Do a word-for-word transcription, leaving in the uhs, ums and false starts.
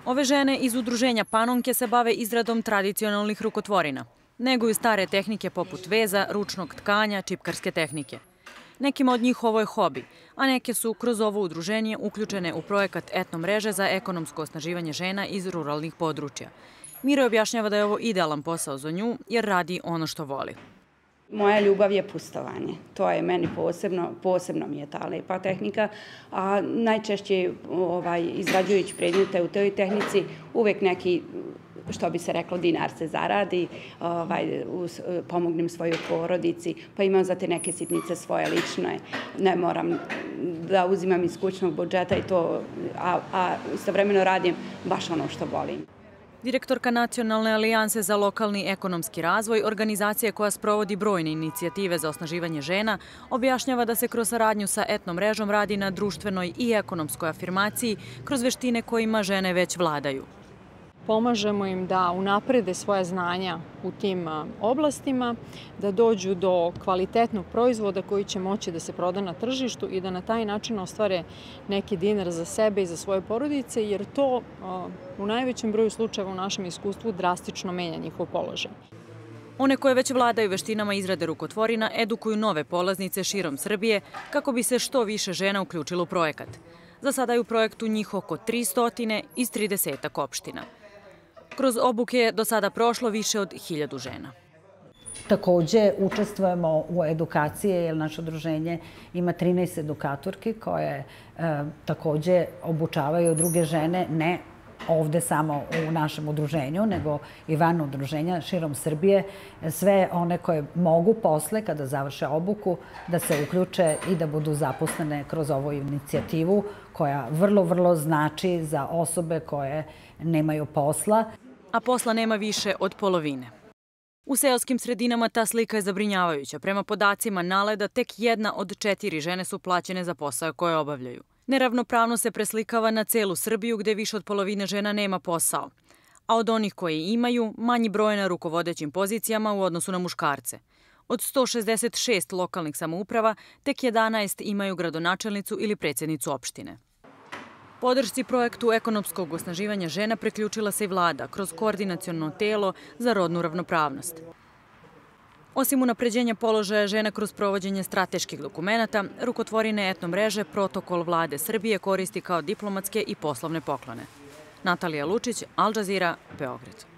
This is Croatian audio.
Ove žene iz udruženja Panonke se bave izradom tradicionalnih rukotvorina. Neguju stare tehnike poput veza, ručnog tkanja, čipkarske tehnike. Nekima od njih ovo je hobi, a neke su kroz ovo udruženje uključene u projekat Etno mreže za ekonomsko osnaživanje žena iz ruralnih područja. Mira objašnjava da je ovo idealan posao za nju jer radi ono što voli. Moja ljubav je pustovanje. To je meni posebno, posebno mi je ta lepa tehnika. A najčešće ovaj, izrađujući predmete u toj tehnici uvek neki, što bi se reklo, dinar se zaradi, ovaj, uz, pomognem svojoj porodici, pa imam za te neke sitnice svoje lične. Ne moram da uzimam iz kućnog budžeta, i to, a, a istovremeno radim baš ono što volim. Direktorka Nacionalne alijanse za lokalni ekonomski razvoj, organizacije koja sprovodi brojne inicijative za osnaživanje žena, objašnjava da se kroz saradnju sa etno mrežom radi na društvenoj i ekonomskoj afirmaciji kroz veštine kojima žene već vladaju. Pomažemo im da unaprede svoja znanja u tim oblastima, da dođu do kvalitetnog proizvoda koji će moći da se proda na tržištu i da na taj način ostvare neki dinar za sebe i za svoje porodice, jer to u najvećem broju slučajeva u našem iskustvu drastično menja njihov položaj. One koje već vladaju veštinama izrade rukotvorina edukuju nove polaznice širom Srbije kako bi se što više žena uključilo u projekat. Za sada je u projektu njih oko tristo iz tridesetak opština. Kroz obuke je do sada prošlo više od hiljadu žena. Takođe, učestvujemo u edukaciji, jer naše udruženje ima trinaest edukatorki koje e, takođe obučavaju druge žene, ne ovde samo u našem udruženju, nego i van udruženja širom Srbije. Sve one koje mogu posle, kada završe obuku, da se uključe i da budu zaposlene kroz ovu inicijativu koja vrlo, vrlo znači za osobe koje nemaju posla. A posla nema više od polovine. U seoskim sredinama ta slika je zabrinjavajuća. Prema podacima Naleda, tek jedna od četiri žene su plaćene za posao koje obavljaju. Neravnopravno se preslikava na celu Srbiju gde više od polovine žena nema posao. A od onih koje imaju, manji broj na rukovodećim pozicijama u odnosu na muškarce. Od sto šezdeset šest lokalnih samouprava, tek jedanaest imaju gradonačelnicu ili predsjednicu opštine. Podršci projektu ekonomskog osnaživanja žena priključila se i vlada kroz koordinaciono telo za rodnu ravnopravnost. Osim unapređenja položaja žena kroz provođenje strateških dokumenata, rukotvorine etno mreže protokol vlade Srbije koristi kao diplomatske i poslovne poklone. Natalija Lučić, Al Jazeera, Beograd.